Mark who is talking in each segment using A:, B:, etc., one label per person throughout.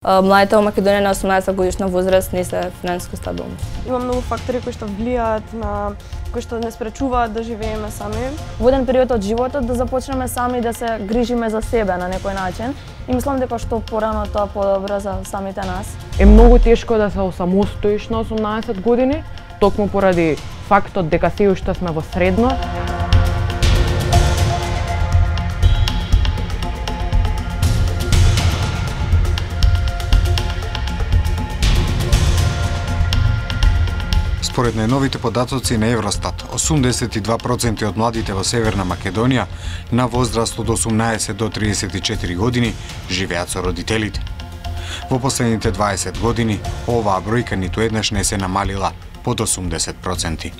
A: Младите во Македонија на 18 годишна возраст не се финансиско стабилни.
B: Има многу фактори кои што влијаат на кои што не спречуваат да живееме сами.
C: Во еден период од животот да започнеме сами да се грижиме за себе на некој начин и мислам дека што порано тоа подобро за самите нас.
D: Е многу тешко да се осамостоиш на 18 години, токму поради фактот дека се уште сме во средно.
E: Според најновите податоци на Евростат, 82% од младите во Северна Македонија на возраст од 18 до 34 години живеат со родителите. Во последните 20 години оваа бројка ниту еднаш не се намалила под 80%.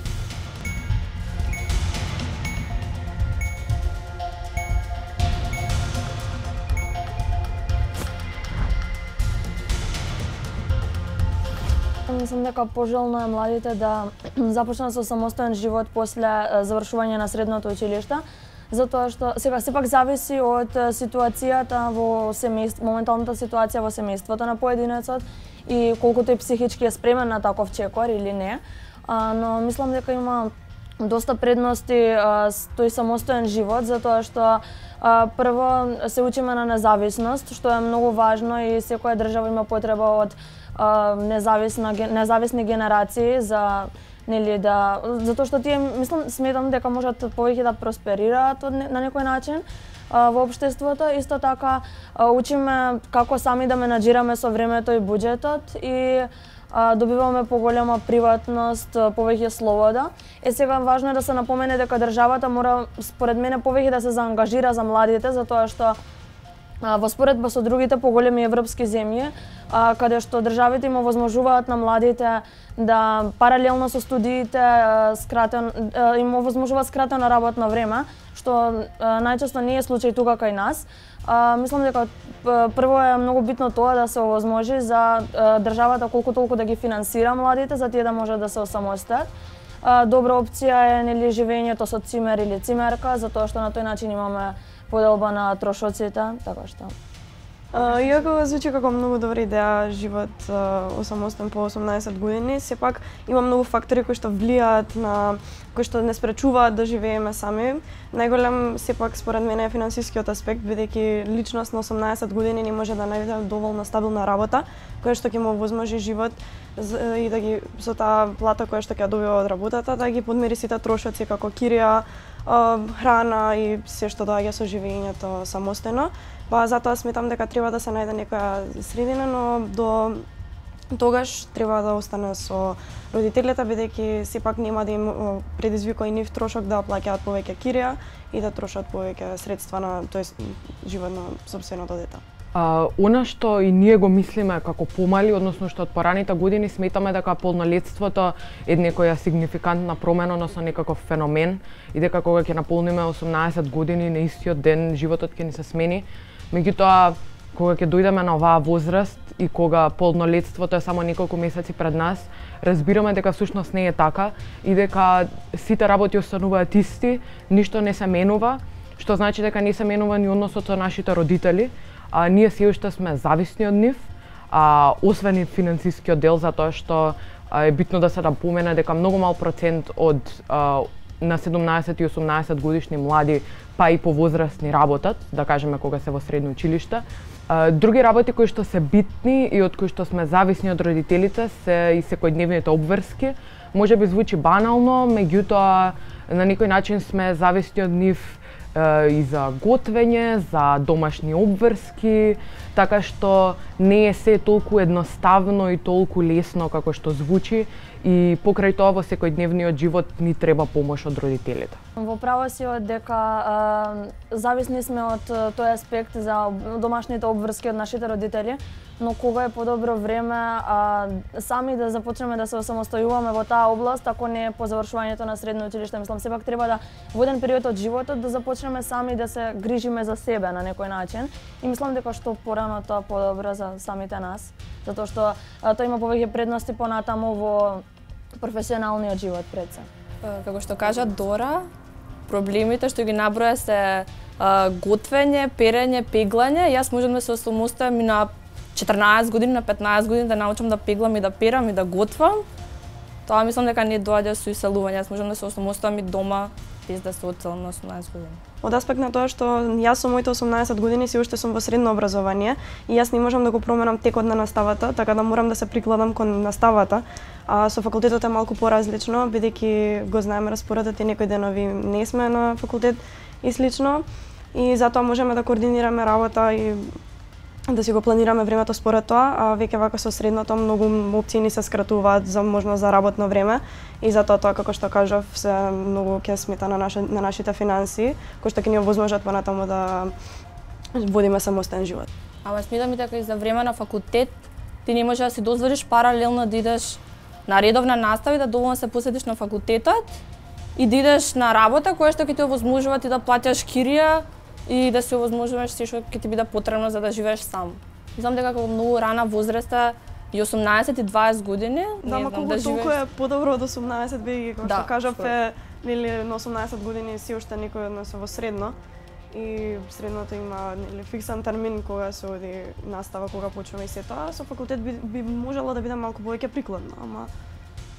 C: Мислам дека пожелно е младите да започнат со самостоен живот после завршување на средното училиште, затоа што сега сепак зависи од ситуацијата во семејство, моменталната ситуација во семејството на поединецот и колку тој психички е спремен на таков чекор или не. Но мислам дека има доста предности тој самостоен живот, затоа што прво се учиме на независност, што е многу важно и секоја држава има потреба од независни генерации за затоа што тие сметам дека можат повеќе да просперираат на некој начин во општеството. Исто така учиме како сами да менаџираме со времето и буџетот и добиваме поголема приватност, повеќе слобода. Сега важно е да се напомене дека државата мора според мене повеќе да се заангажира за младите, затоа што во споредба со другите поголеми европски земји, каде што државите им овозможуваат на младите да паралелно со студиите им овозможуваат скратено работно време, што најчесто не е случај тука кај нас. Мислам дека прво е многу битно тоа да се овозможи за државата колку толку да ги финансира младите за тие да можат да се осамостојат. Добра опција е живењето со цимер или цимерка, затоа што на тој начин имаме поделба на трошоците, така што.
B: Иако звучи како многу добра идеја живот осамостен по 18 години, сепак има многу фактори кои што влијаат на кои што не спречуваат да живееме сами. Најголем сепак според мене е финансискиот аспект, бидејќи личност на 18 години не може да најде доволно стабилна работа која што ќе му овозможи живот и да ги со таа плата која што ќе добива од работата да ги подмири сите трошоци како кирија, храна и се што доаѓа со живењето самостојно. Па затоа сметам дека треба да се најде некоја средина, но до тогаш треба да остане со родителите, бидејќи сепак нема да им предизвика и нив трошок да плаќаат повеќе кирија и да трошат повеќе средства на живот на сопственото дете.
D: Она што и ние го мислиме како помали, односно што од пораните години сметаме дека полнолетството е некоја сигнификантна промена, односно некаков феномен и дека кога ќе наполниме 18 години на истиот ден животот ќе ни се смени. Меѓутоа, кога ќе дојдеме на оваа возраст и кога полнолетството е само неколку месеци пред нас, разбираме дека всушност не е така и дека сите работи остануваат исти, ништо не се менува, што значи дека не се менува ни односот со нашите родители. Ние се уште сме зависни од нив, освен и финансискиот дел, затоа што е битно да се напомене дека многу мал процент од на 17 и 18 годишни млади, па и повозрастни работат, да кажеме кога се во средно училиште. Други работи кои што се битни и од кои што сме зависни од родителите се и секојдневните обврски. Може би звучи банално, меѓутоа на некој начин сме зависни од нив и за готвење, за домашни обврски, така што не е се толку едноставно и толку лесно како што звучи и покрај тоа во секојдневниот живот ни треба помош од родителите.
C: Во право си од дека зависни сме од тој аспект за домашните обврски од нашите родители, но кога е подобро време сами да започнеме да се осамостојуваме во таа област, ако не е по завршувањето на средно училиште, мислам сепак треба да во еден период од животот да започнеме сами да се грижиме за себе на некој начин и мислам дека што порано тоа подобро за самите нас, затоа што тоа има повеќе предности понатаму во професионалниот живот пред се.
A: Како што кажа Дора, проблемите што ги наброја се готвење, перење, пеглање. Јас можам да се осамостојам и на 14 години на 15 години да научам да пеглам и да перам и да готвам, тоа мислам дека не доаѓа со иселување. Јас можам да се осамостојам и дома без да се одселам на 18 години.
B: Од аспект на тоа што јас со моите 18 години си уште сум во средно образование и јас не можам да го променам текот на наставата, така да морам да се прикладам кон наставата. А со факултетот е малку поразлично, бидејќи го знаеме распоредот и некои денови не сме на факултет и слично. И затоа можеме да координираме работа и да си го планираме времето според тоа, а веќе вака со средното многу опции ни се скратуваат за можност за работно време и затоа тоа како што кажав се многу ќе смета на нашите финанси, кои што ќе ни овозможат понатаму да водиме самостоен живот.
A: Ама сметам и дека и за време на факултет ти не можеш да си дозволиш паралелно да идеш на редовна настава и да доволно се посветиш на факултетот и да идеш на работа која што ќе ти овозможува ти да платиш кирија и да се овозможуваш се што ќе ти биде потребно за да живееш сам. Мислам дека како многу рана возраста и 18 и 20 години,
B: да,
A: не знам, да
B: толку
A: живееш.
B: е подобро од 18 бидејќи како
A: Да,
B: што кажав е нели на 18 години си уште некој од нас во средно и средното има нели фиксан термин кога се оди настава, кога почнува и се тоа, со факултет би можело да биде малку повеќе прикладно, ама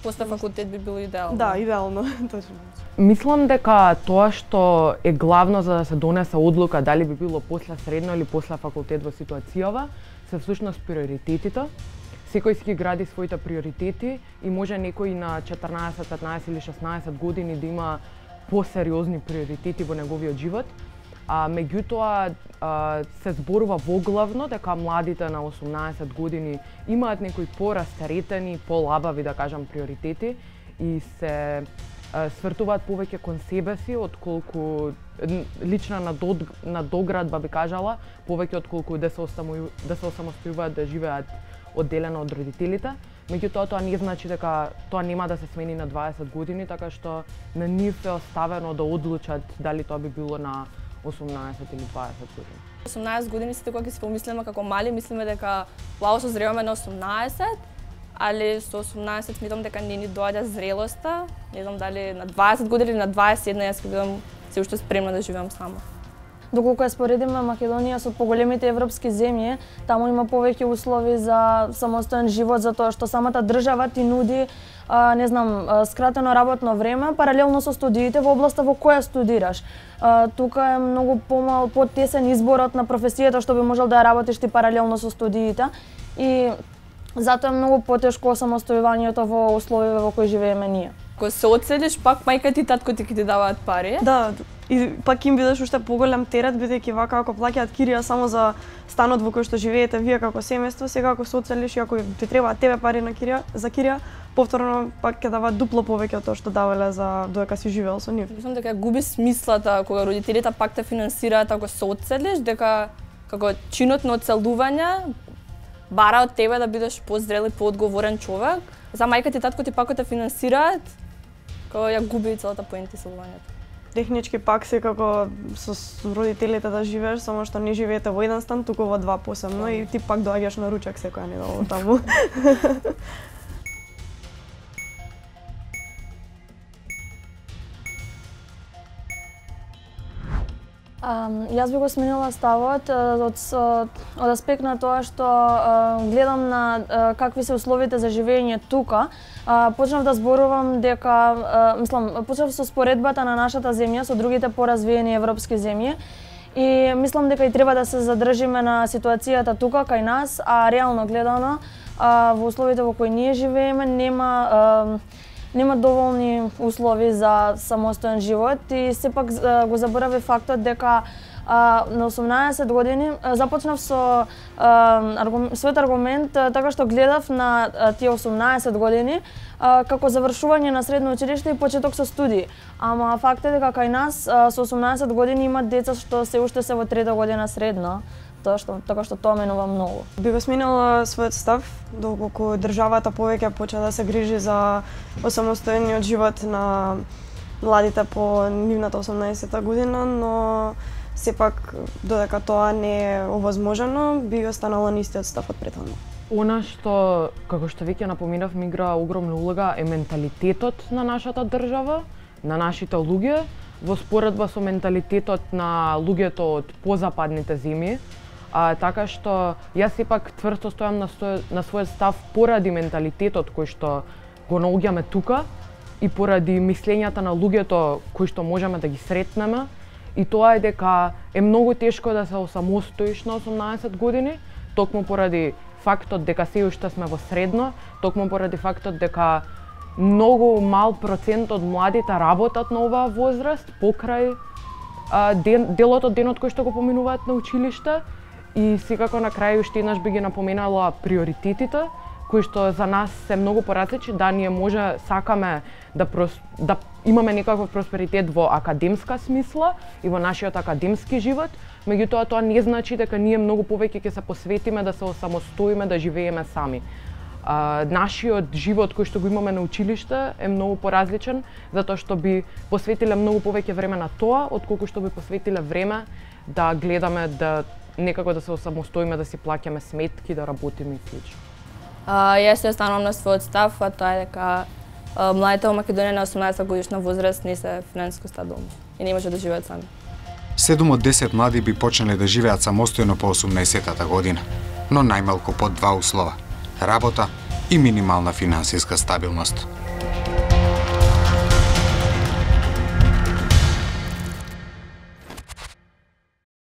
A: После факултет би било идеално.
B: да, идеално, точно.
D: Мислам дека тоа што е главно за да се донесе одлука дали би било после средно или после факултет во ситуацијава, се всушност приоритетите. Секој си ги гради своите приоритети и може некој на 14, 15 или 16 години да има посериозни приоритети во неговиот живот. А меѓутоа се зборува воглавно дека младите на 18 години имаат некои порастеретени, полабави да кажам приоритети и се свртуваат повеќе кон себе си отколку лична надоградба би кажала, повеќе отколку да се осамостојуваат да живеат одделено од родителите. Меѓутоа тоа не значи дека тоа нема да се смени на 20 години, така што на нив е оставено да одлучат дали тоа би било на 18 или 20 години.
A: 18 години сите кога ќе се помислиме како мали, мислиме дека вау созреваме на 18, али со 18 сметам дека не ни доаѓа зрелоста. Не знам дали на 20 години или на 21 јас ќе бидам се уште спремна да живеам сама.
C: Доколку ја споредиме Македонија со поголемите европски земји, таму има повеќе услови за самостоен живот, затоа што самата држава ти нуди не знам, скратено работно време, паралелно со студиите во областа во која студираш. Тука е многу потесен изборот на професијата што би можел да ја работиш ти паралелно со студиите и затоа е многу потешко самостојувањето во условиве во кои живееме ние.
A: Кога се одселиш, пак мајка ти и татко ти ќе ти даваат пари.
B: Да, и пак им бидеш уште поголем терет, бидејќи вака ако плаќаат кирија само за станот во кој што живеете вие како семејство, сега ако се одселиш и ако ти требаат тебе пари на кирија, за кирија, повторно пак ќе даваат дупло повеќе од тоа што давале за додека си живеел со нив.
A: Мислам дека губи смислата кога родителите пак те финансираат ако се одселиш, дека како чинот на одселување бара од тебе да бидеш позрел и поодговорен човек. За мајка ти и татко ти пак те финансираат, кога ја губи целата поента селувањето.
B: Технички пак секако со родителите да живееш, само што не живеете во еден стан, туку во два посебно и ти пак доаѓаш на ручек секоја недела таму.
C: Јас би го сменила ставот од аспект на тоа што гледам на какви се условите за живење тука. Почнав да зборувам дека, почнав со споредбата на нашата земја со другите поразвиени европски земји и мислам дека и треба да се задржиме на ситуацијата тука кај нас, а реално гледано во условите во кои ние живееме нема доволни услови за самостоен живот и сепак го заборави фактот дека на 18 години започнав со својот аргумент така што гледав на тие 18 години како завршување на средно училиште и почеток со студии. Ама факт е дека кај нас со 18 години имат деца што се уште се во трета година средно. Така што тоа менува многу.
B: Би го сменила својот став, доколку државата повеќе почна да се грижи за осамостојниот живот на младите по нивната 18-та година, но сепак додека тоа не е овозможено, би останала на истиот став од претходно.
D: Она што, како што веќе напоменав, ми игра огромна улога е менталитетот на нашата држава, на нашите луѓе, во споредба со менталитетот на луѓето од позападните земји. така што јас сепак тврсто стојам на својот став поради менталитетот кој што го наоѓаме тука и поради мислењата на луѓето кои што можеме да ги сретнеме. И тоа е дека е многу тешко да се осамостоиш на 18 години, токму поради фактот дека се уште сме во средно, токму поради фактот дека многу мал процент од младите работат на оваа возраст покрај делот од денот кој што го поминуваат на училиште. И секако на крај уште еднаш би ги напоменала приоритетите кои што за нас се многу поразлични. Да, ние може сакаме да имаме некаков просперитет во академска смисла и во нашиот академски живот, меѓутоа тоа не значи дека ние многу повеќе ќе се посветиме да се осамостоиме, да живееме сами. Нашиот живот кој што го имаме на училиште е многу поразличен, затоа што би посветиле многу повеќе време на тоа, отколку што би посветиле време да гледаме да некако да се осамостоиме, да си плаќаме сметки, да работиме и слично.
A: Јас се останувам на својот став, а тоа е дека младите во Македонија на 18 годишна возраст не се финансиско стабилни и не може да живеат сами.
E: 7 од 10 млади би почнале да живеат самостојно по 18-та година, но најмалку под два услова: работа и минимална финансиска стабилност.